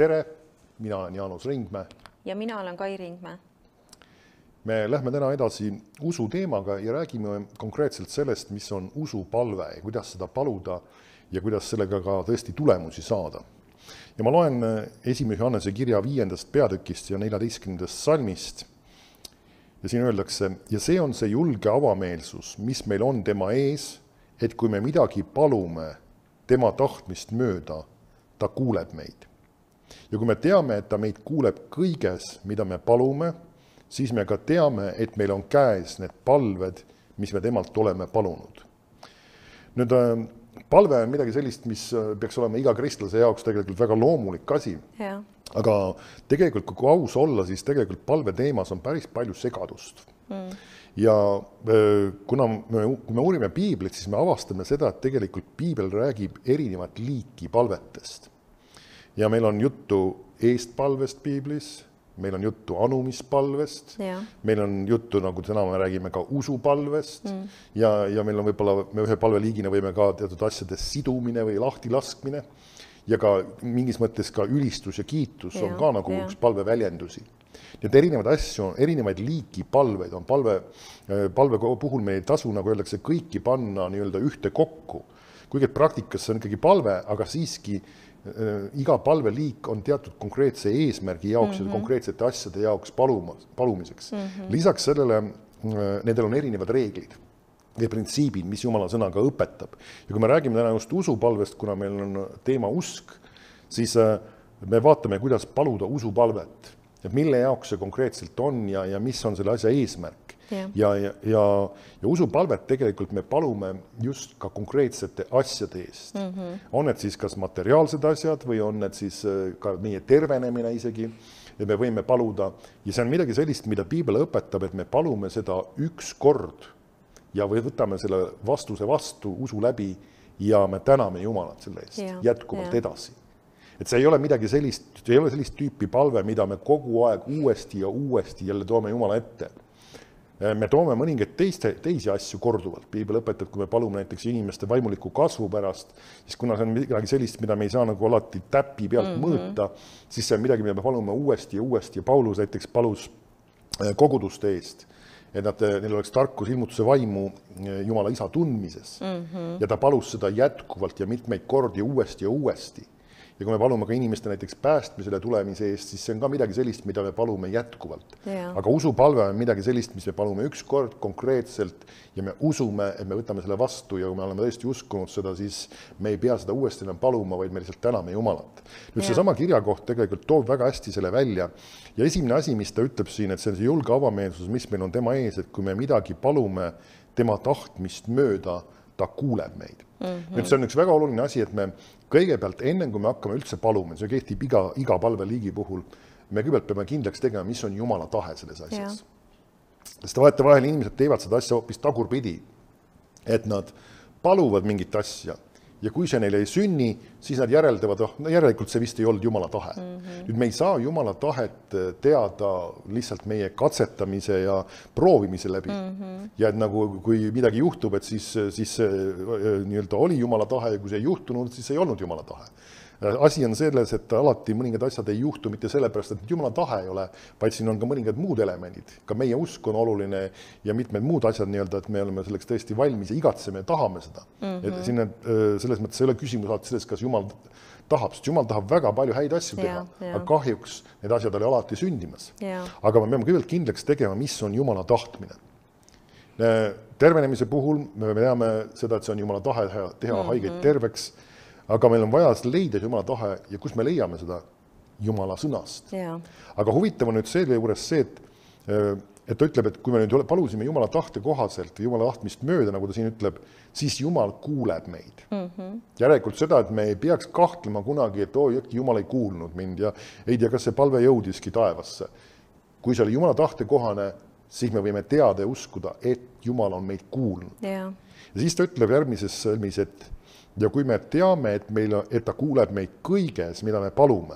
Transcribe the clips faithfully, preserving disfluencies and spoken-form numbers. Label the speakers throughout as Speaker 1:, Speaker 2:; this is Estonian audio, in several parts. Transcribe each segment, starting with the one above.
Speaker 1: tere, mina olen Jaanus Ringmäe.
Speaker 2: Ja mina olen Kai Ringmäe.
Speaker 1: Me lähme täna edasi usu teemaga ja räägime konkreetselt sellest, mis on usupalve ja kuidas seda paluda ja kuidas sellega ka tõesti tulemusi saada. Ja ma loen esimese Johannese kirja viiendast peatükist ja neljateistkümnendast salmist. Ja siin öeldakse, ja see on see julge avameelsus, mis meil on tema ees, et kui me midagi palume tema tahtmist mööda, ta kuuleb meid. Ja kui me teame, et ta meid kuuleb kõiges, mida me palume, siis me ka teame, et meil on käes need palved, mis me temalt oleme palunud. Nüüd palve on midagi sellist, mis peaks olema iga kristlase jaoks tegelikult väga loomulik asi.
Speaker 2: Ja.
Speaker 1: Aga tegelikult, kui aus olla, siis tegelikult palve teemas on päris palju segadust. Mm. Ja kuna me, kui me uurime piiblit, siis me avastame seda, et tegelikult piibel räägib erinevat liiki palvetest. Ja meil on juttu eestpalvest piiblis, meil on juttu anumispalvest, ja. Meil on juttu, nagu täna me räägime, ka usupalvest mm. ja, ja meil on võib-olla, me ühe palveliigina võime ka teatud asjades sidumine või lahti laskmine ja ka mingis mõttes ka ülistus ja kiitus ja, on ka nagu ja. Üks palve väljendusi. Nii et erinevaid asju, erinevaid liiki palveid on palve, palve puhul me ei tasu, nagu öeldakse, kõiki panna nii-öelda ühte kokku. Kuigi praktikas see on ikkagi palve, aga siiski äh, iga palveliik on teatud konkreetse eesmärgi jaoks mm -hmm. ja konkreetsete asjade jaoks paluma, palumiseks. Mm -hmm. Lisaks sellele, äh, nendel on erinevad reeglid ja printsiibid, mis Jumala sõnaga õpetab. Ja kui me räägime täna just usupalvest, kuna meil on teema usk, siis äh, me vaatame, kuidas paluda usupalvet. Et mille jaoks see konkreetselt on ja, ja mis on selle asja eesmärk. Yeah. Ja, ja, ja, ja usupalvet tegelikult me palume just ka konkreetsete asjade eest. Mm -hmm. On need siis kas materiaalsed asjad või on need siis ka meie tervenemine isegi, et me võime paluda. Ja see on midagi sellist, mida piibel õpetab, et me palume seda üks kord ja või võtame selle vastuse vastu usu läbi ja me täname Jumalat selle eest yeah. jätkuvalt yeah. edasi. Et see ei ole midagi sellist, see ei ole sellist tüüpi palve, mida me kogu aeg uuesti ja uuesti jälle toome Jumala ette. Me toome mõningaid teiste, teisi asju korduvalt. Piibel õpetab, kui me palume näiteks inimeste vaimuliku kasvu pärast, siis kuna see on midagi sellist, mida me ei saa nagu alati täpi pealt mm -hmm. mõõta, siis see on midagi, mida me palume uuesti ja uuesti. Ja Paulus näiteks palus koguduste eest, et nad, neil oleks tarkus ilmutuse vaimu Jumala isa tundmises. Mm -hmm. Ja ta palus seda jätkuvalt ja mitmeid kordi uuesti ja uuesti. Ja kui me palume ka inimeste näiteks päästmisele tulemise eest, siis see on ka midagi sellist, mida me palume jätkuvalt. Yeah. Aga usupalve on midagi sellist, mis me palume üks kord konkreetselt ja me usume, et me võtame selle vastu ja kui me oleme tõesti uskunud seda, siis me ei pea seda uuesti enam paluma, vaid me lihtsalt täname Jumalat. Nüüd yeah. see sama kirjakoht tegelikult toob väga hästi selle välja ja esimene asi, mis ta ütleb siin, et see on see julge avameelsus, mis meil on tema ees, et kui me midagi palume tema tahtmist mööda, ta kuuleb meid. Mm-hmm. Nüüd see on üks väga oluline asi, et me kõigepealt enne, kui me hakkame üldse paluma, see kehtib iga, iga palveliigi puhul, me kõigepealt peame kindlaks tegema, mis on Jumala tahe selles asjas. Ja. Sest vaata vahel inimesed teevad seda asja hoopis tagurpidi, et nad paluvad mingit asja ja kui see neile ei sünni, siis nad järeldavad, oh, no järelikult see vist ei olnud Jumala tahe. Mm-hmm. Nüüd me ei saa Jumala tahet teada lihtsalt meie katsetamise ja proovimise läbi. Mm-hmm. Ja et nagu kui midagi juhtub, et siis, siis nii-öelda oli Jumala tahe ja kui see ei juhtunud, siis ei olnud Jumala tahe. Asi on selles, et alati mõningad asjad ei juhtu mitte sellepärast, et Jumala tahe ei ole, vaid siin on ka mõningad muud elemendid. Ka meie usk on oluline ja mitmed muud asjad nii-öelda, et me oleme selleks tõesti valmis ja igatseme ja tahame seda. Mm-hmm. Et siin selles mõttes ei ole küsimus alati selles, kas Jumal tahab, sest Jumal tahab väga palju häid asju teha, ja, ja. Aga kahjuks need asjad oli alati sündimas. Ja. Aga me peame kõigepealt kindlaks tegema, mis on Jumala tahtmine. Tervenemise puhul me teame seda, et see on Jumala tahe teha mm-hmm. haigeid terveks, aga meil on vaja leida Jumala tahe ja kus me leiame seda Jumala sõnast. Ja. Aga huvitav on nüüd selle juures see, et, et ta ütleb, et kui me nüüd palusime Jumala tahte kohaselt või Jumala tahtmist mööda, nagu ta siin ütleb, siis Jumal kuuleb meid. Mm-hmm. Järelikult seda, et me ei peaks kahtlema kunagi, et oi, äkki Jumal ei kuulnud mind ja ei tea, kas see palve jõudiski taevasse. Kui see oli Jumala tahte kohane, siis me võime teada ja uskuda, et Jumal on meid kuulnud. Ja, ja siis ta ütleb järgmises sõlmis, et ja kui me teame, et, meil, et ta kuuleb meid kõiges, mida me palume,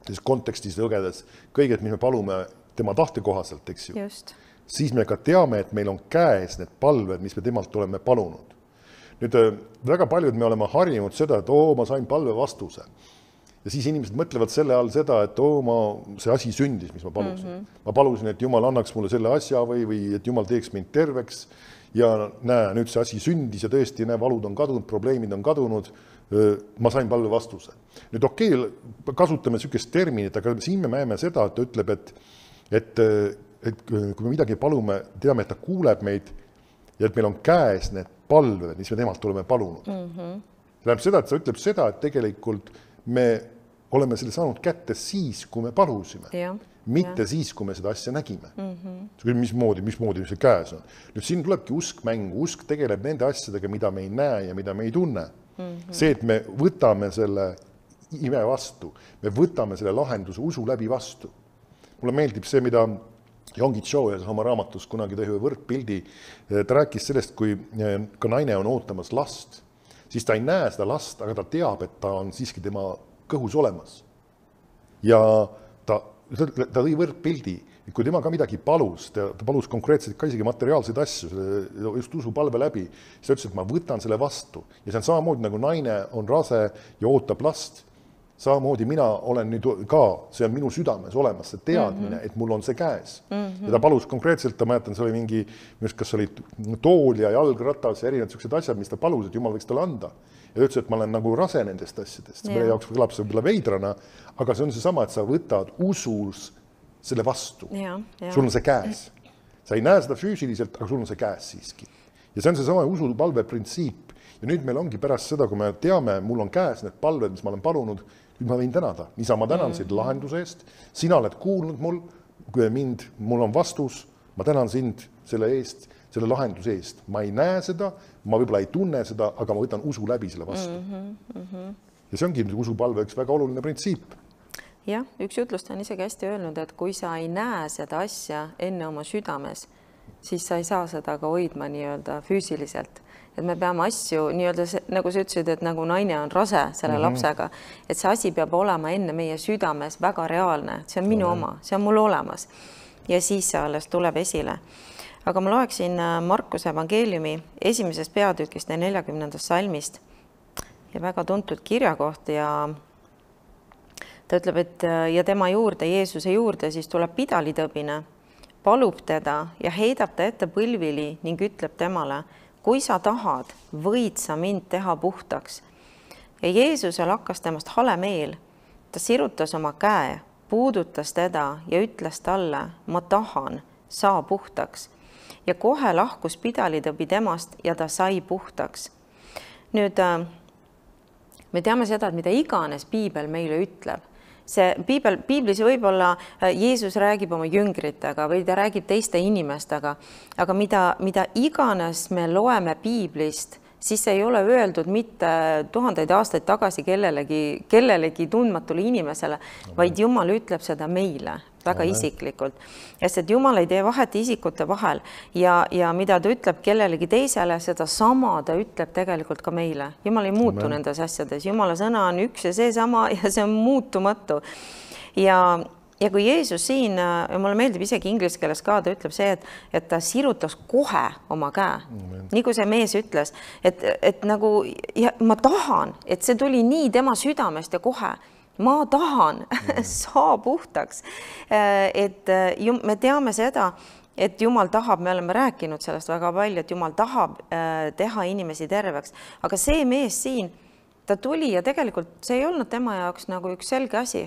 Speaker 1: siis kontekstis lõgedes kõiget, mis me palume tema tahte kohaselt, eks ju, Just. Siis me ka teame, et meil on käes need palved, mis me temalt oleme palunud. Nüüd väga paljud me oleme harjunud seda, et oo, ma sain palve vastuse. ja siis inimesed mõtlevad selle all seda, et oo, ma, see asi sündis, mis ma palusin. Mm -hmm. ma palusin, et Jumal annaks mulle selle asja või, või et Jumal teeks mind terveks ja näe, nüüd see asi sündis ja tõesti, näe, valud on kadunud, probleemid on kadunud, ma sain palve vastuse. Nüüd okei, okay, kasutame niisugust terminit, aga siin me näeme seda, et ta ütleb, et, et, et kui me midagi palume, teame, et ta kuuleb meid ja et meil on käes need palved, mis me temalt oleme palunud. Mm -hmm. Tähendab seda, et ta ütleb seda, et tegelikult me oleme selle saanud kätte siis, kui me palusime. Ja, mitte ja. siis, kui me seda asja nägime. Mm -hmm. Mismoodi, mismoodi see käes on. Nüüd siin tulebki usk mängu. Usk tegeleb nende asjadega, mida me ei näe ja mida me ei tunne. Mm -hmm. See, et me võtame selle ime vastu, me võtame selle lahenduse usu läbi vastu. Mulle meeldib see, mida Yonggi Cho oma raamatus kunagi tõi ühe võrdpildi. Ta rääkis sellest, kui ka naine on ootamas last, siis ta ei näe seda last, aga ta teab, et ta on siiski tema kõhus olemas. Ja ta, ta tõi võrdpildi, et kui tema ka midagi palus, ta, ta palus konkreetselt ka isegi materiaalseid asju, just usupalve läbi, siis ta ütles, et ma võtan selle vastu. Ja see on samamoodi, nagu naine on rase ja ootab last, samamoodi mina olen nüüd ka, see on minu südames olemas, see teadmine, mm -hmm. et mul on see käes. Mm -hmm. Ja ta palus konkreetselt, ta mäletan, see oli mingi, kas oli tool ja jalgratas ja erinevad sellised asjad, mis ta palus, et Jumal võiks talle anda. Ja ütles, et ma olen nagu rase nendest asjadest. Meie jaoks kõlab see võib-olla veidrana, aga see on see sama, et sa võtad usus selle vastu. Ja, ja. Sul on see käes. Sa ei näe seda füüsiliselt, aga sul on see käes siiski. Ja see on see sama usupalve printsiip. Ja nüüd meil ongi pärast seda, kui me teame, mul on käes need palved, mis ma olen palunud, nüüd ma võin tänada. Niisa ma tänan sind lahenduse eest. Sina oled kuulnud mul, kui mind, mul on vastus, ma tänan sind selle eest, selle lahenduse eest. Ma ei näe seda, ma võib-olla ei tunne seda, aga ma võtan usu läbi selle vastu. Mm -hmm. Ja see ongi usupalve üks väga oluline printsiip.
Speaker 2: Jah, üks jutlust on isegi hästi öelnud, et kui sa ei näe seda asja enne oma südames, siis sa ei saa seda ka hoidma nii-öelda füüsiliselt. Et me peame asju nii-öelda, nagu sa ütlesid, et nagu naine on rase selle mm -hmm. lapsega, et see asi peab olema enne meie südames väga reaalne. See on minu mm -hmm. oma, see on mul olemas. Ja siis see alles tuleb esile. Aga ma loeksin Markuse evangeeliumi esimesest peatükist ja neljakümnendast salmist ja väga tuntud kirjakoht ja ta ütleb, et ja tema juurde, Jeesuse juurde, siis tuleb pidalitõbine, palub teda ja heidab ta ette põlvili ning ütleb temale, kui sa tahad, võid sa mind teha puhtaks. Ja Jeesusel hakkas temast hale meel. Ta sirutas oma käe, puudutas teda ja ütles talle, ma tahan, saa puhtaks. Ja kohe lahkus pidalitõbi temast ja ta sai puhtaks. Nüüd me teame seda, et mida iganes piibel meile ütleb. See piibel, piiblis võib-olla Jeesus räägib oma jüngritega või ta räägib teiste inimestega, aga mida, mida iganes me loeme piiblist, siis see ei ole öeldud mitte tuhandeid aastaid tagasi kellelegi, kellelegi tundmatule inimesele, vaid Jumal ütleb seda meile väga Amen. Isiklikult. Sest et Jumal ei tee vahet isikute vahel ja, ja mida ta ütleb kellelegi teisele, seda sama ta ütleb tegelikult ka meile. Jumal ei muutu Amen. Nendes asjades. Jumala sõna on üks ja see sama ja see on muutumatu. Ja, ja kui Jeesus siin, ja mulle meeldib isegi inglise keeles ka, ta ütleb see, et, et ta sirutas kohe oma käe. Amen. Nii kui see mees ütles, et, et nagu ja ma tahan, et see tuli nii tema südamest ja kohe, ma tahan, saa puhtaks. Et me teame seda, et Jumal tahab, me oleme rääkinud sellest väga palju, et Jumal tahab teha inimesi terveks. Aga see mees siin, ta tuli ja tegelikult see ei olnud tema jaoks nagu üks selge asi.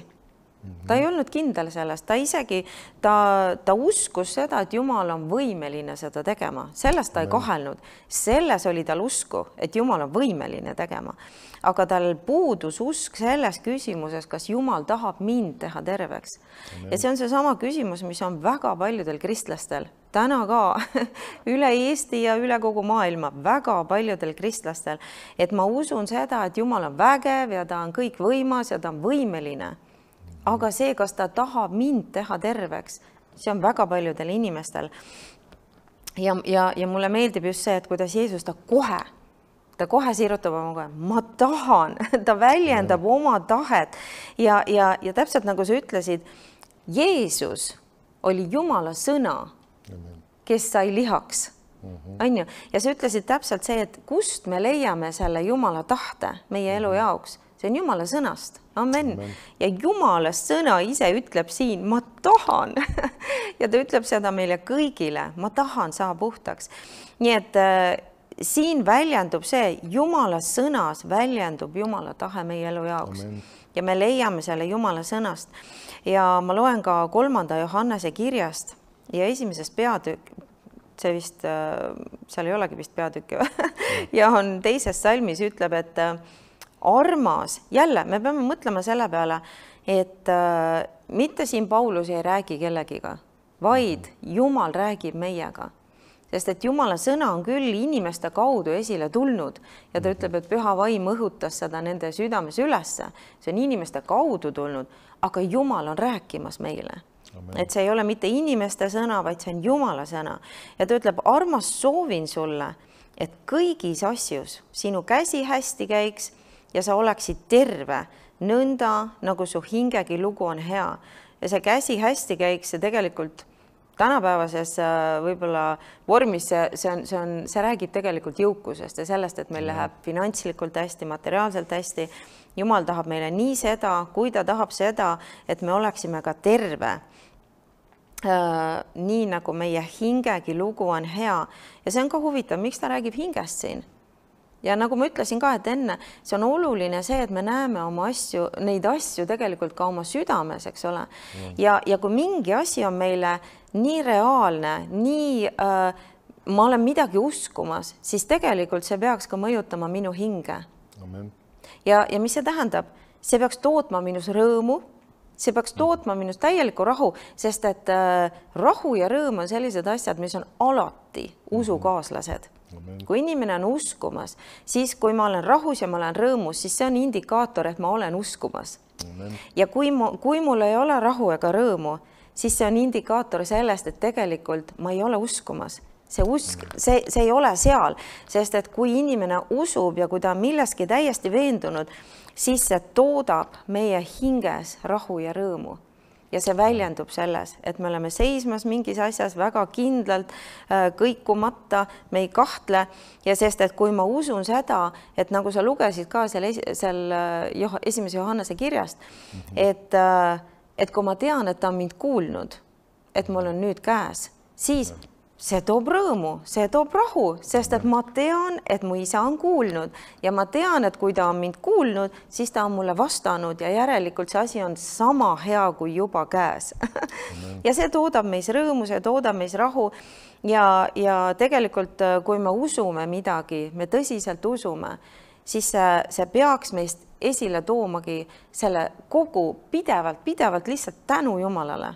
Speaker 2: Ta ei olnud kindel sellest, ta isegi, ta, ta uskus seda, et Jumal on võimeline seda tegema. Sellest ta ei kahelnud. Selles oli tal usku, et Jumal on võimeline tegema. Aga tal puudus usk selles küsimuses, kas Jumal tahab mind teha terveks. Ja see on see sama küsimus, mis on väga paljudel kristlastel. Täna ka üle Eesti ja üle kogu maailma väga paljudel kristlastel. Et ma usun seda, et Jumal on vägev ja ta on kõik võimas ja ta on võimeline. Aga see, kas ta tahab mind teha terveks, see on väga paljudel inimestel. Ja, ja, ja mulle meeldib just see, et kuidas Jeesus ta kohe, ta kohe sirutab oma kohe, ma tahan, ta väljendab ja. Oma tahet. Ja, ja, ja täpselt nagu sa ütlesid, Jeesus oli Jumala sõna, kes sai lihaks. On ju? Ja sa ütlesid täpselt see, et kust me leiame selle Jumala tahte meie elu jaoks. see on Jumala sõnast. Amen. Amen. Ja Jumala sõna ise ütleb siin, ma tahan ja ta ütleb seda meile kõigile, ma tahan saa puhtaks. Nii et äh, siin väljendub see, Jumala sõnas väljendub Jumala tahe meie elu jaoks. Amen. Ja me leiame selle Jumala sõnast. Ja ma loen ka kolmanda Johannese kirjast ja esimesest peatükk, see vist, seal ei olegi vist peatükki ja on teises salmis ütleb, et armas, jälle me peame mõtlema selle peale, et äh, mitte siin Paulus ei räägi kellegiga, vaid Jumal räägib meiega. Sest et Jumala sõna on küll inimeste kaudu esile tulnud ja ta ütleb, et püha vaim õhutas seda nende südames ülesse. See on inimeste kaudu tulnud, aga Jumal on rääkimas meile. Amen. Et see ei ole mitte inimeste sõna, vaid see on Jumala sõna. Ja ta ütleb, armas soovin sulle, et kõigis asjus sinu käsi hästi käiks ja sa oleksid terve, nõnda nagu su hingegi lugu on hea. Ja see käsi hästi käiks ja tegelikult tänapäevases võib-olla vormis see, see, on, see, on, see räägib tegelikult jõukusest ja sellest, et meil läheb finantslikult hästi, materiaalselt hästi. Jumal tahab meile nii seda, kui ta tahab seda, et me oleksime ka terve. Äh, nii nagu meie hingegi lugu on hea. Ja see on ka huvitav, miks ta räägib hingest siin. Ja nagu ma ütlesin ka, et enne, see on oluline see, et me näeme oma asju, neid asju tegelikult ka oma südames, eks ole. Ja, ja kui mingi asi on meile nii reaalne, nii äh, ma olen midagi uskumas, siis tegelikult see peaks ka mõjutama minu hinge. Amen. Ja, ja mis see tähendab? See peaks tootma minus rõõmu, see peaks tootma minus täieliku rahu, sest et äh, rahu ja rõõm on sellised asjad, mis on alati usukaaslased. Amen. Kui inimene on uskumas, siis kui ma olen rahus ja ma olen rõõmus, siis see on indikaator, et ma olen uskumas. Amen. Ja kui, mu, kui mul ei ole rahu ega rõõmu, siis see on indikaator sellest, et tegelikult ma ei ole uskumas. See, usk, see, see ei ole seal, sest et kui inimene usub ja kui ta on milleski täiesti veendunud, siis see toodab meie hinges rahu ja rõõmu. Ja see väljendub selles, et me oleme seismas mingis asjas väga kindlalt, kõikumata, me ei kahtle ja sest, et kui ma usun seda, et nagu sa lugesid ka seal, seal esimese Johannese kirjast, et, et kui ma tean, et ta on mind kuulnud, et mul on nüüd käes, siis see toob rõõmu, see toob rahu, sest et ma tean, et mu isa on kuulnud ja ma tean, et kui ta on mind kuulnud, siis ta on mulle vastanud ja järelikult see asi on sama hea kui juba käes. Ja see toodab meis rõõmu, see toodab meis rahu ja, ja tegelikult kui me usume midagi, me tõsiselt usume, siis see, see peaks meist esile toomagi selle kogu pidevalt, pidevalt lihtsalt tänu Jumalale.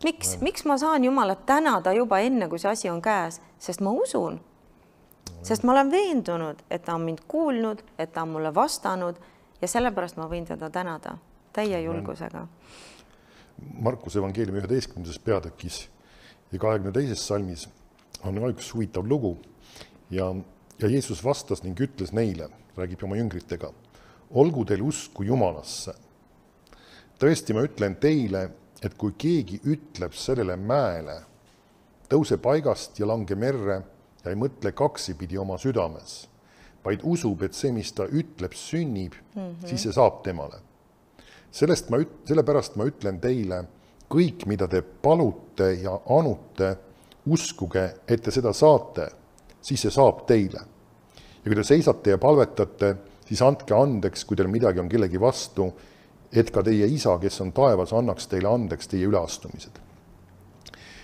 Speaker 2: Miks? Miks ma saan Jumalat tänada juba enne, kui see asi on käes? Sest ma usun. Sest ma olen veendunud, et ta on mind kuulnud, et ta on mulle vastanud ja sellepärast ma võin teda tänada täie julgusega.
Speaker 1: Markus evangeeliumi üheteistkümnendas peatükis ja kahekümne teises salmis on üks huvitav lugu ja, ja Jeesus vastas ning ütles neile, räägib oma jüngritega, olgu teil usku Jumalasse. Tõesti, ma ütlen teile, et kui keegi ütleb sellele mäele, tõuse paigast ja lange merre ja ei mõtle kaksipidi oma südames, vaid usub, et see, mis ta ütleb, sünnib, mm-hmm. siis see saab temale. Sellest ma, sellepärast ma ütlen teile, kõik, mida te palute ja anute, uskuge, et te seda saate, siis see saab teile. Ja kui te seisate ja palvetate, siis andke andeks, kui teil midagi on kellegi vastu, et ka teie isa, kes on taevas, annaks teile andeks teie üleastumised.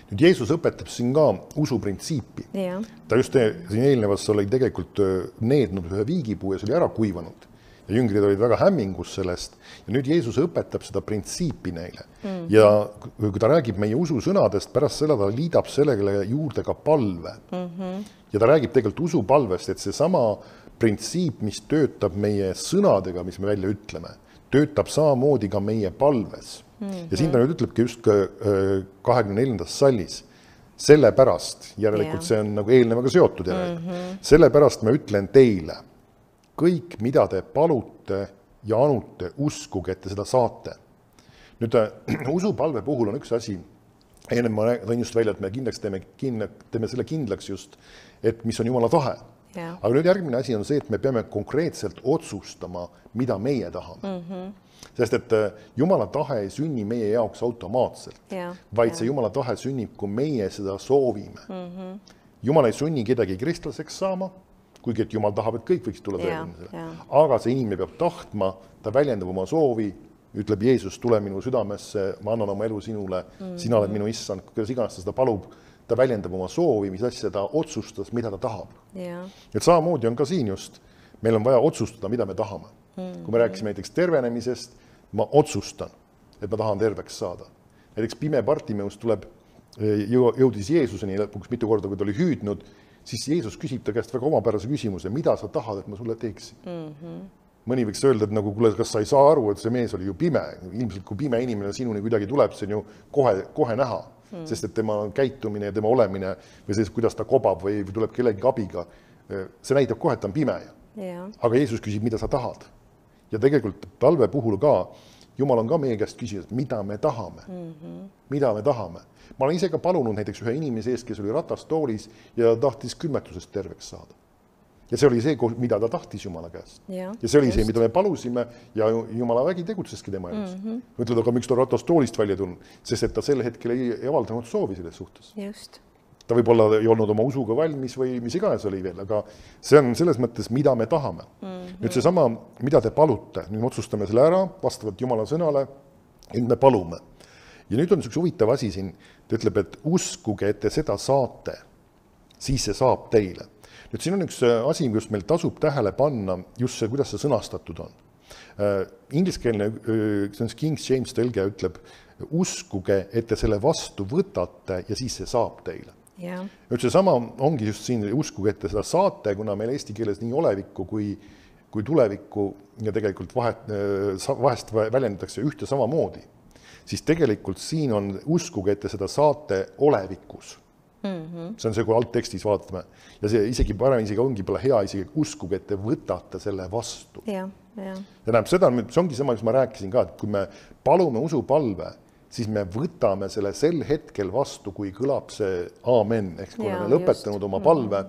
Speaker 1: Nüüd Jeesus õpetab siin ka usuprintsiipi. Ja. Ta just siin eelnevas oli tegelikult neednud ühe viigipuu ja see oli ära kuivanud. Ja jüngrid olid väga hämmingus sellest. Ja nüüd Jeesus õpetab seda printsiipi neile. Mm. Ja kui ta räägib meie ususõnadest, pärast seda ta liidab sellele juurde ka palve. Mm-hmm. Ja ta räägib tegelikult usupalvest, et see sama printsiip, mis töötab meie sõnadega, mis me välja ütleme, töötab samamoodi ka meie palves. Mm-hmm. Ja siin ta nüüd ütlebki just kahekümne neljandas sallis. Sellepärast, järelikult yeah. see on nagu eelnevaga seotud järelikult. Mm-hmm. Sellepärast ma ütlen teile, kõik, mida te palute ja anute, uskuge, et te seda saate. Nüüd usupalve puhul on üks asi, enne ma tõin just välja, et me kindlaks teeme, kindla, teeme selle kindlaks just, et mis on Jumala tahe.
Speaker 2: Yeah.
Speaker 1: Aga nüüd järgmine asi on see, et me peame konkreetselt otsustama, mida meie tahame. Mm-hmm. Sest et Jumala tahe ei sünni meie jaoks automaatselt,
Speaker 2: yeah.
Speaker 1: vaid
Speaker 2: yeah.
Speaker 1: see Jumala tahe sünnib, kui meie seda soovime. Mm-hmm. Jumal ei sunni kedagi kristlaseks saama, kuigi et Jumal tahab, et kõik võiks tulla
Speaker 2: yeah.
Speaker 1: tõelisele.
Speaker 2: Yeah.
Speaker 1: Aga see inimene peab tahtma, ta väljendab oma soovi, ütleb Jeesus, tule minu südamesse, ma annan oma elu sinule, mm-hmm. sina oled minu issand, kuidas iganes ta seda palub, ta väljendab oma soovi, mis asja ta otsustas, mida ta tahab.
Speaker 2: Yeah.
Speaker 1: Et samamoodi on ka siin just, meil on vaja otsustada, mida me tahame. Mm-hmm. Kui me rääkisime näiteks tervenemisest, ma otsustan, et ma tahan terveks saada. Näiteks pime Bartimeus tuleb, jõudis Jeesuseni lõpuks mitu korda, kui ta oli hüüdnud, siis Jeesus küsib ta käest väga omapärase küsimuse, mida sa tahad, et ma sulle teeksin. Mm-hmm. Mõni võiks öelda, et nagu, kuule, kas sa ei saa aru, et see mees oli ju pime. Ilmselt kui pime inimene sinuni kuidagi tuleb, see on ju kohe, kohe näha. Mm. Sest et tema käitumine ja tema olemine või siis, kuidas ta kobab või tuleb kellegi abiga, see näitab kohe, et ta on pime.
Speaker 2: Yeah.
Speaker 1: Aga Jeesus küsib, mida sa tahad. Ja tegelikult palve puhul ka, Jumal on ka meie käest küsinud, mida me tahame. Mm-hmm. Mida me tahame. Ma olen ise ka palunud näiteks ühe inimese ees, kes oli ratastoolis ja tahtis külmetusest terveks saada. Ja see oli see, mida ta tahtis Jumala käest.
Speaker 2: Ja,
Speaker 1: ja see oli
Speaker 2: just.
Speaker 1: see, mida me palusime ja Jumala vägi tegutseski tema elus. Mm-hmm. Ütled, aga miks ta ratastoolist välja tulnud? Sest et ta sel hetkel ei avaldanud soovi selles suhtes.
Speaker 2: Just.
Speaker 1: Ta võib olla ei olnud oma usuga valmis või mis iganes oli veel, aga see on selles mõttes, mida me tahame. Mm-hmm. Nüüd see sama, mida te palute, nüüd me otsustame selle ära vastavalt Jumala sõnale, et me palume. Ja nüüd on üks huvitav asi siin, ta ütleb, et uskuge, et te seda saate, siis see saab teile. Nüüd siin on üks asi, kus meil tasub tähele panna, just see, kuidas see sõnastatud on. Uh, ingliskeelne, uh, see on King James tõlge, ütleb, uskuge, et te selle vastu võtate ja siis see saab teile.
Speaker 2: Yeah.
Speaker 1: Nüüd see sama ongi just siin, uskuge, et te seda saate, kuna meil eesti keeles nii olevikku kui, kui tulevikku ja tegelikult vahet, vahest väljendatakse ühte samamoodi, siis tegelikult siin on uskuge, et te seda saate olevikus. Mm-hmm. See on see, kui alttekstis vaatame. Ja see isegi parem isegi ongi pole hea isegi uskuge, et te võtate selle vastu.
Speaker 2: Ja, ja.
Speaker 1: ja näeb seda, see ongi sama, mis ma rääkisin ka, et kui me palume usupalve, siis me võtame selle sel hetkel vastu, kui kõlab see aamen, ehk kui
Speaker 2: ja,
Speaker 1: oleme lõpetanud just. Oma palve.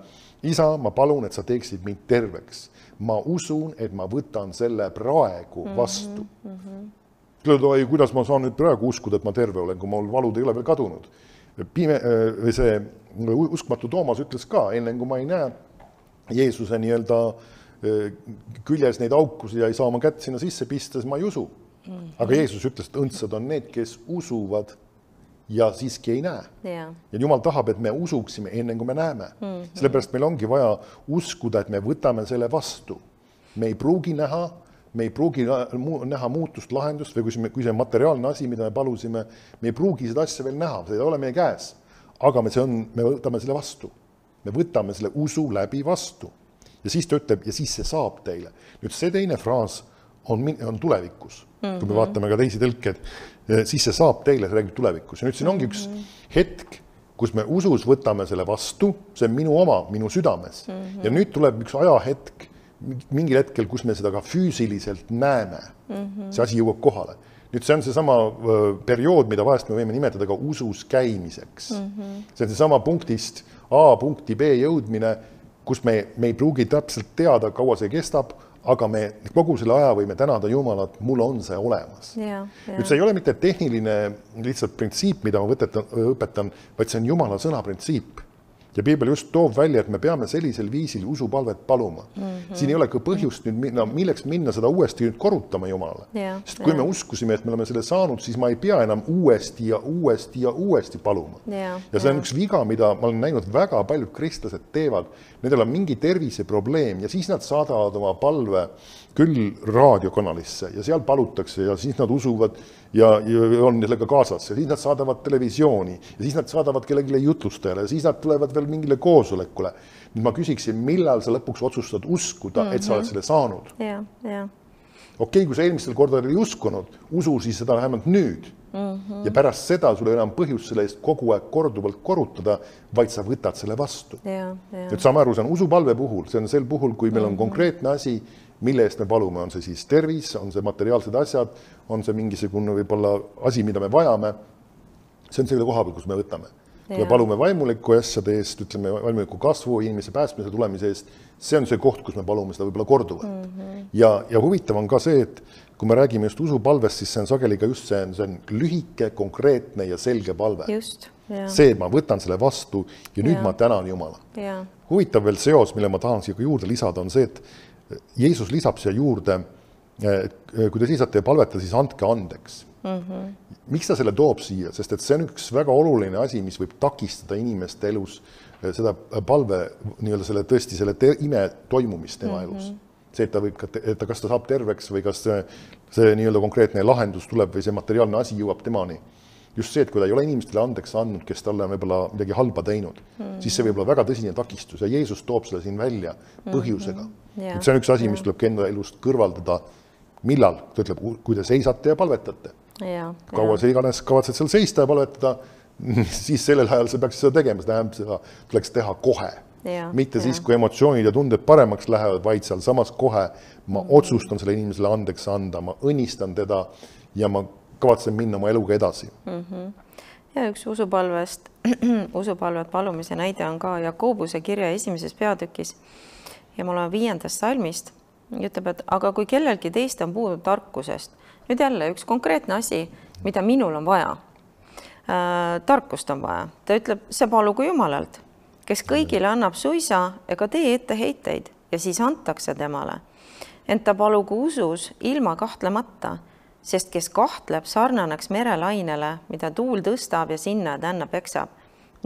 Speaker 1: Isa, ma palun, et sa teeksid mind terveks. Ma usun, et ma võtan selle praegu vastu. Mm-hmm. Mm-hmm. Kuidas ma saan nüüd praegu uskuda, et ma terve olen, kui mul valud ei ole veel kadunud. Pime, või see uskmatu Toomas ütles ka, enne kui ma ei näe Jeesuse nii-öelda küljes neid aukusi ja ei saa oma kätt sinna sisse pista, siis ma ei usu. Mm-hmm. Aga Jeesus ütles, et õndsad on need, kes usuvad ja siiski ei näe.
Speaker 2: Yeah.
Speaker 1: Ja Jumal tahab, et me usuksime enne, kui me näeme. Mm-hmm. Sellepärast meil ongi vaja uskuda, et me võtame selle vastu. Me ei pruugi näha, me ei pruugi näha muutust, lahendust või kui see, kui see materiaalne asi, mida me palusime, me ei pruugi seda asja veel näha, see ei ole meie käes. Aga me, see on, me võtame selle vastu. Me võtame selle usu läbi vastu. Ja siis ta ütleb, ja siis see saab teile. Nüüd see teine fraas on, on tulevikus. Mm-hmm. Kui me vaatame ka teisi tõlked, siis see saab teile, see räägib tulevikus. Ja nüüd siin ongi üks mm-hmm. hetk, kus me usus võtame selle vastu, see on minu oma, minu südames. Mm-hmm. Ja nüüd tuleb üks ajahetk, mingil hetkel, kus me seda ka füüsiliselt näeme. Mm-hmm. See asi jõuab kohale. Nüüd see on see sama periood, mida vahest me võime nimetada ka usus käimiseks. Mm-hmm. See on see sama punktist A punkti B jõudmine, kus me, me ei pruugi täpselt teada, kaua see kestab, aga me kogu selle aja võime tänada Jumalat, mul on see olemas.
Speaker 2: Ja, ja.
Speaker 1: Nüüd see ei ole mitte tehniline lihtsalt printsiip, mida ma võtetan, õpetan, vaid see on Jumala sõna printsiip. Ja Piibel just toob välja, et me peame sellisel viisil usupalvet paluma. Mm-hmm. Siin ei ole ka põhjust nüüd minna, milleks minna seda uuesti nüüd korrutama Jumalale. Yeah, Sest kui yeah. me uskusime, et me oleme selle saanud, siis ma ei pea enam uuesti ja uuesti ja uuesti paluma. Yeah, ja see on yeah. üks viga, mida ma olen näinud väga paljud kristlased teevad. Nendel on mingi terviseprobleem ja siis nad saadavad oma palve küll raadiokanalisse ja seal palutakse ja siis nad usuvad ja, ja on sellega kaasas ja siis nad saadavad televisiooni ja siis nad saadavad kellelegi jutlustajale ja siis nad tulevad veel mingile koosolekule. Nüüd ma küsiksin, millal sa lõpuks otsustad uskuda, mm-hmm. et sa oled selle saanud?
Speaker 2: Yeah, yeah.
Speaker 1: Okei, kui sa eelmistel kordadel ei uskunud, usu siis seda vähemalt nüüd. Mm-hmm. Ja pärast seda sul ei enam põhjust selle eest kogu aeg korduvalt korutada, vaid sa võtad selle vastu.
Speaker 2: Yeah, yeah.
Speaker 1: Nüüd saame aru, see on usupalve puhul, see on sel puhul, kui meil on mm-hmm. konkreetne asi, mille eest me palume, on see siis tervis, on see materiaalsed asjad, on see mingisugune võib-olla asi, mida me vajame. See on selle koha peal, kus me võtame. kui me palume vaimuliku asjade eest, ütleme vaimuliku kasvu, inimese päästmise tulemise eest, see on see koht, kus me palume seda võib-olla korduvalt. Mm -hmm. ja, ja huvitav on ka see, et kui me räägime just usupalvest, siis see on sageli ka just see, see on lühike, konkreetne ja selge palve.
Speaker 2: Just, ja.
Speaker 1: See, ma võtan selle vastu ja nüüd ja. ma tänan Jumala.
Speaker 2: Ja.
Speaker 1: Huvitav veel seos, mille ma tahan siia juurde lisada, on see, et Jeesus lisab siia juurde, kui te seisate ja palvete, siis andke andeks. Mm-hmm. Miks ta selle toob siia? Sest et see on üks väga oluline asi, mis võib takistada inimeste elus seda palve, nii-öelda selle tõesti selle ime toimumist tema mm-hmm. elus. See, et ta võib, et ta, kas ta saab terveks või kas see, see nii-öelda konkreetne lahendus tuleb või see materiaalne asi jõuab temani. Just see, et kui ta ei ole inimestele andeks andnud, kes talle on võib-olla midagi halba teinud, mm-hmm. siis see võib olla väga tõsine takistus ja Jeesus toob selle siin välja põhjusega. Mm-hmm. Yeah. See on üks asi, mis tuleb enda elust kõrvaldada. Millal? Ta ütleb, kui te seisate ja palvetate. Ja, kaua ja. see iganes kavatsed seal seista ja palvetada, siis sellel ajal sa peaks seda tegema, seda tähendab, seda tuleks teha kohe. Ja, mitte ja. siis, kui emotsioonid ja tunded paremaks lähevad, vaid seal samas kohe ma mm-hmm. otsustan selle inimesele andeks anda, ma õnnistan teda ja ma kavatsen minna oma eluga edasi. Mm-hmm.
Speaker 2: Ja üks usupalvest, usupalvet palumise näide on ka Jakobuse kirja esimeses peatükis ja mul on viiendast salmist, ütleb, et aga kui kellelgi teist on puudu tarkusest, nüüd jälle üks konkreetne asi, mida minul on vaja, äh, tarkust on vaja, ta ütleb, see palugu Jumalalt, kes kõigile annab suisa ega tee etteheiteid ja siis antakse temale. Ent ta palugu usus ilma kahtlemata, sest kes kahtleb, sarnaneks merelainele, mida tuul tõstab ja sinna tänna peksab.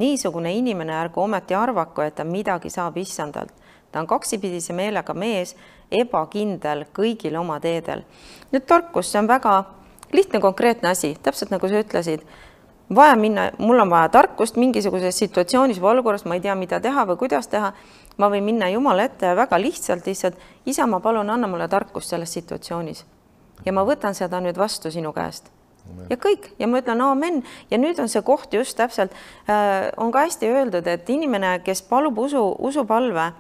Speaker 2: Niisugune inimene ärgu ometi arvaku, et ta midagi saab issandalt. Ta on kaksipidise meelega mees, ebakindel kõigil oma teedel. Nüüd tarkus, see on väga lihtne konkreetne asi, täpselt nagu sa ütlesid. Vaja minna, mul on vaja tarkust mingisuguses situatsioonis või olukorras, ma ei tea, mida teha või kuidas teha. Ma võin minna Jumala ette ja väga lihtsalt lihtsalt, isa, ma palun, anna mulle tarkust selles situatsioonis. Ja ma võtan seda nüüd vastu sinu käest. Amen. Ja kõik, ja ma ütlen aamen. Ja nüüd on see koht just täpselt, äh, on ka hästi öeldud, et inimene, kes palub usu, usupalve,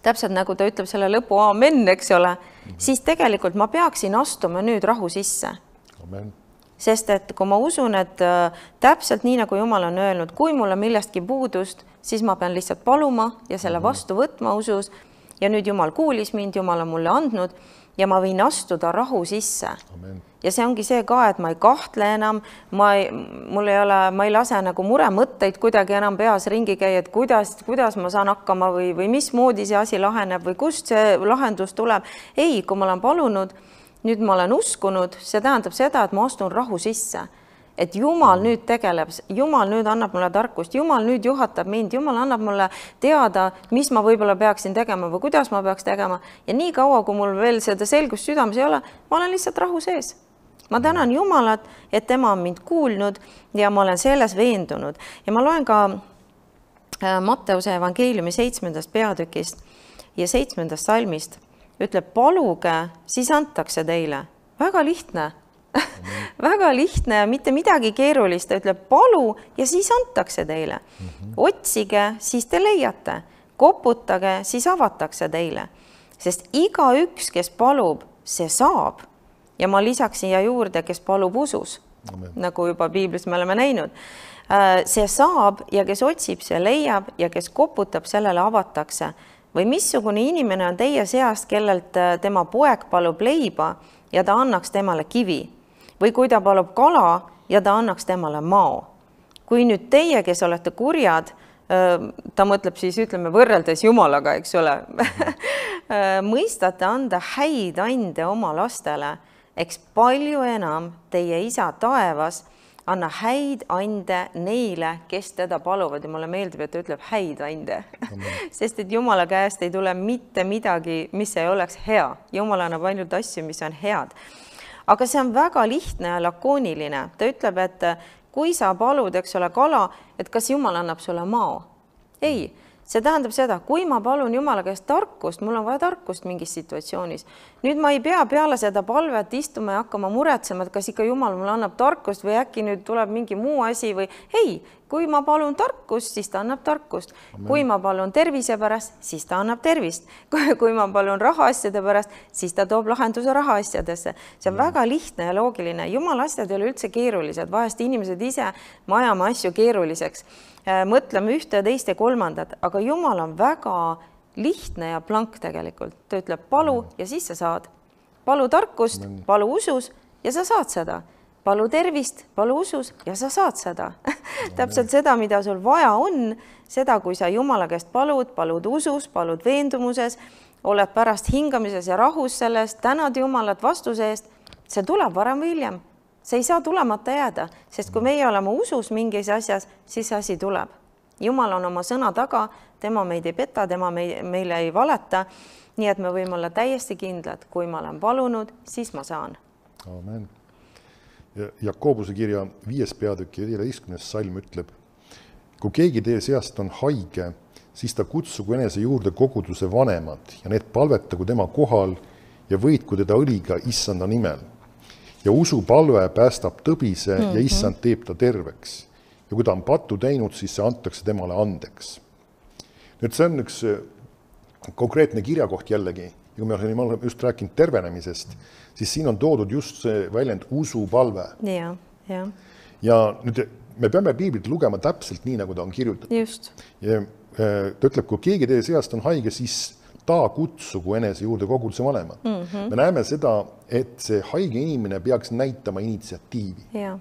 Speaker 2: täpselt nagu ta ütleb selle lõpu aamen, eks ole, mm-hmm. siis tegelikult ma peaksin astuma nüüd rahu sisse. Amen. Sest et kui ma usun, et äh, täpselt nii, nagu Jumal on öelnud, kui mul on millestki puudust, siis ma pean lihtsalt paluma ja selle mm-hmm. vastu võtma usus. Ja nüüd Jumal kuulis mind, Jumal on mulle andnud ja ma võin astuda rahu sisse. Amen. Ja see ongi see ka, et ma ei kahtle enam, ma ei, mul ei ole, ma ei lase nagu muremõtteid kuidagi enam peas ringi käia, et kuidas, kuidas ma saan hakkama või, või mismoodi see asi laheneb või kust see lahendus tuleb. Ei, kui ma olen palunud, nüüd ma olen uskunud, see tähendab seda, et ma astun rahu sisse. Et Jumal nüüd tegeleb, Jumal nüüd annab mulle tarkust, Jumal nüüd juhatab mind, Jumal annab mulle teada, mis ma võib-olla peaksin tegema või kuidas ma peaks tegema. Ja nii kaua, kui mul veel seda selgust südames ei ole, ma olen lihtsalt rahu sees. Ma tänan Jumalat, et tema on mind kuulnud ja ma olen selles veendunud. Ja ma loen ka Matteuse evangeeliumi seitsmendast peatükist ja seitsmendast salmist. Ütleb, paluge, siis antakse teile. Väga lihtne. Väga lihtne ja mitte midagi keerulist. Ta ütleb, palu ja siis antakse teile. Mm-hmm. Otsige, siis te leiate. Koputage, siis avatakse teile. Sest iga üks, kes palub, see saab. Ja ma lisaks siia juurde, kes palub usus, Amen. Nagu juba piiblis me oleme näinud. See saab ja kes otsib, see leiab ja kes koputab, sellele avatakse. Või missugune inimene on teie seast, kellelt tema poeg palub leiba ja ta annaks temale kivi. Või kui ta palub kala ja ta annaks temale mao. Kui nüüd teie, kes olete kurjad, ta mõtleb siis, ütleme, võrreldes Jumalaga, eks ole, mõistate anda häid ande oma lastele, eks palju enam teie isa taevas anna häid ande neile, kes teda paluvad. Ja mulle meeldib, et ta ütleb häid ande. Sest et Jumala käest ei tule mitte midagi, mis ei oleks hea. Jumal annab ainult asju, mis on head. Aga see on väga lihtne ja lakooniline. Ta ütleb, et kui sa palud, eks ole, kala, et kas Jumal annab sulle mao? Ei, see tähendab seda, kui ma palun Jumala käest tarkust, mul on vaja tarkust mingis situatsioonis. Nüüd ma ei pea peale seda palvet istuma ja hakkama muretsema, et kas ikka Jumal mulle annab tarkust või äkki nüüd tuleb mingi muu asi või ei, kui ma palun tarkust, siis ta annab tarkust. Amen. Kui ma palun tervise pärast, siis ta annab tervist. Kui ma palun rahaasjade pärast, siis ta toob lahenduse rahaasjadesse. See on Amen. Väga lihtne ja loogiline. Jumala asjad ei ole üldse keerulised. Vahest inimesed ise majame asju keeruliseks. Mõtleme ühte ja teist ja kolmandat, aga Jumal on väga lihtne ja plank tegelikult. Ta ütleb palu Amen. Ja siis sa saad. Palu tarkust, Amen. Palu usus ja sa saad seda. Palu tervist, palu usus ja sa saad seda. Täpselt seda, mida sul vaja on, seda, kui sa Jumala käest palud, palud usus, palud veendumuses, oled pärast hingamises ja rahus sellest, tänad Jumalat vastuse eest, see tuleb varem või hiljem. See ei saa tulemata jääda, sest kui meie oleme usus mingis asjas, siis asi tuleb. Jumal on oma sõna taga, tema meid ei peta, tema meile ei valeta, nii et me võime olla täiesti kindlad, kui ma olen palunud, siis ma saan.
Speaker 1: Amen. Jakobuse kirja viies peatükk ja viieteistkümnes salm ütleb, kui keegi teie seast on haige, siis ta kutsugu enese juurde koguduse vanemad ja need palvetagu tema kohal ja võitku teda õliga issanda nimel. Ja usu palve päästab tõbise mm-hmm. ja issand teeb ta terveks. Ja kui ta on patu teinud, siis see antakse temale andeks. Nüüd see on üks konkreetne kirjakoht jällegi. Ja kui me oleme just rääkinud tervenemisest, siis siin on toodud just see väljend usupalve.
Speaker 2: Ja, ja.
Speaker 1: ja nüüd me peame piiblit lugema täpselt nii, nagu ta on kirjutatud.
Speaker 2: Just.
Speaker 1: Ja ta ütleb, kui keegi teie seast on haige, siis ta kutsugu enese juurde koguduse vanemad. Mm-hmm. Me näeme seda, et see haige inimene peaks näitama initsiatiivi.
Speaker 2: Ja.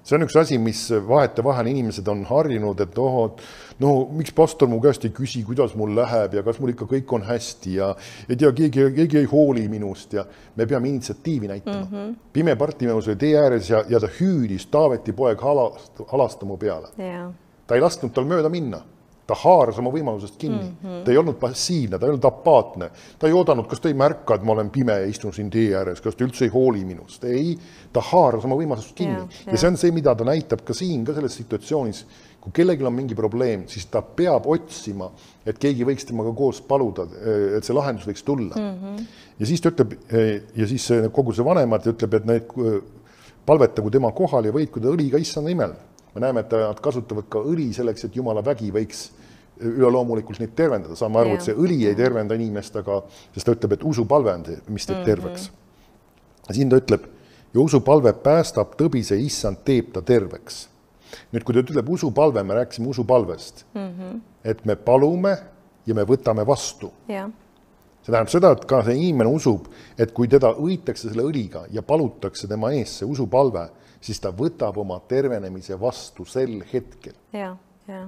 Speaker 1: See on üks asi, mis vahete vahel inimesed on harjunud, et oh, no miks pastor mu käest ei küsi, kuidas mul läheb ja kas mul ikka kõik on hästi ja ei tea, keegi, keegi ei hooli minust ja me peame initsiatiivi näitama. Mm-hmm. Pime Bartimeus oli tee ääres ja, ja ta hüüdis Taaveti poeg halast, halastamu peale.
Speaker 2: Yeah.
Speaker 1: Ta ei lasknud tal mööda minna. Ta haaras oma võimalusest kinni. Mm-hmm. Ta ei olnud passiivne, ta ei olnud apaatne. Ta ei oodanud, kas ta ei märka, et ma olen pime ja istun siin tee ääres, kas ta üldse ei hooli minust. Ei, ta haaras oma võimalusest kinni. Yeah, yeah. Ja see on see, mida ta näitab ka siin, ka selles situatsioonis. Kui kellelgi on mingi probleem, siis ta peab otsima, et keegi võiks temaga koos paluda, et see lahendus võiks tulla. Mm-hmm. Ja siis ta ütleb, ja siis kogu see vanemad ütleb, et need palvetagu tema kohal ja võitku ta õliga issanda nimel. Me näeme, et nad kasutavad ka õli selleks, et Jumala vägi võiks üleloomulikult neid tervendada. Saame aru, et see õli ei tervenda inimest, aga sest ta ütleb, et usupalve on see, mis teeb terveks. Ja siin ta ütleb, ja usupalve päästab tõbise issand teeb ta terveks. Nüüd, kui ta ütleb usupalve, me rääkisime usupalvest, mm-hmm. et me palume ja me võtame vastu.
Speaker 2: Ja.
Speaker 1: See tähendab seda, et ka see inimene usub, et kui teda õitakse selle õliga ja palutakse tema ees see usupalve, siis ta võtab oma tervenemise vastu sel hetkel.
Speaker 2: Ja, ja.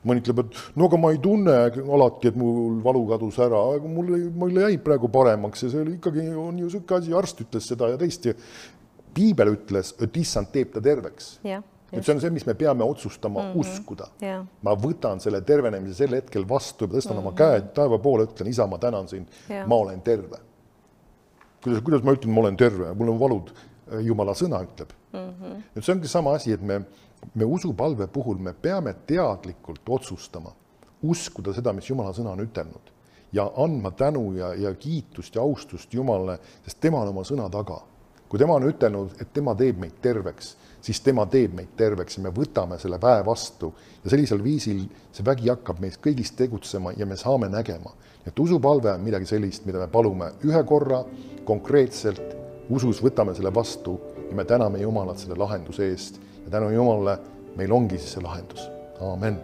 Speaker 1: Mõni ütleb, et no aga ma ei tunne alati, et mul valu kadus ära, aga mulle, mulle jäi praegu paremaks ja see oli ikkagi on ju sõkke asi, arst ütles seda ja teist. Piibel ütles, et issand teeb ta terveks.
Speaker 2: Ja,
Speaker 1: et see on see, mis me peame otsustama mm-hmm. uskuda.
Speaker 2: Ja.
Speaker 1: Ma võtan selle tervenemise sel hetkel vastu ja tõstan mm-hmm. oma käed taeva poole, ütlen, isa, ma tänan sind, ja. Ma olen terve. Kuidas, kuidas ma ütlen, ma olen terve, mul on valud, Jumala sõna ütleb. Mm-hmm. Et see ongi sama asi, et me, me usupalve puhul me peame teadlikult otsustama, uskuda seda, mis Jumala sõna on ütelnud ja andma tänu ja, ja kiitust ja austust Jumalale, sest tema on oma sõna taga. Kui tema on ütelnud, et tema teeb meid terveks, siis tema teeb meid terveks ja me võtame selle väe vastu ja sellisel viisil see vägi hakkab meist kõigist tegutsema ja me saame nägema. Et usupalve on midagi sellist, mida me palume ühe korra konkreetselt, usus võtame selle vastu ja me täname Jumalat selle lahenduse eest ja tänu Jumalale meil ongi siis see lahendus. Aamen.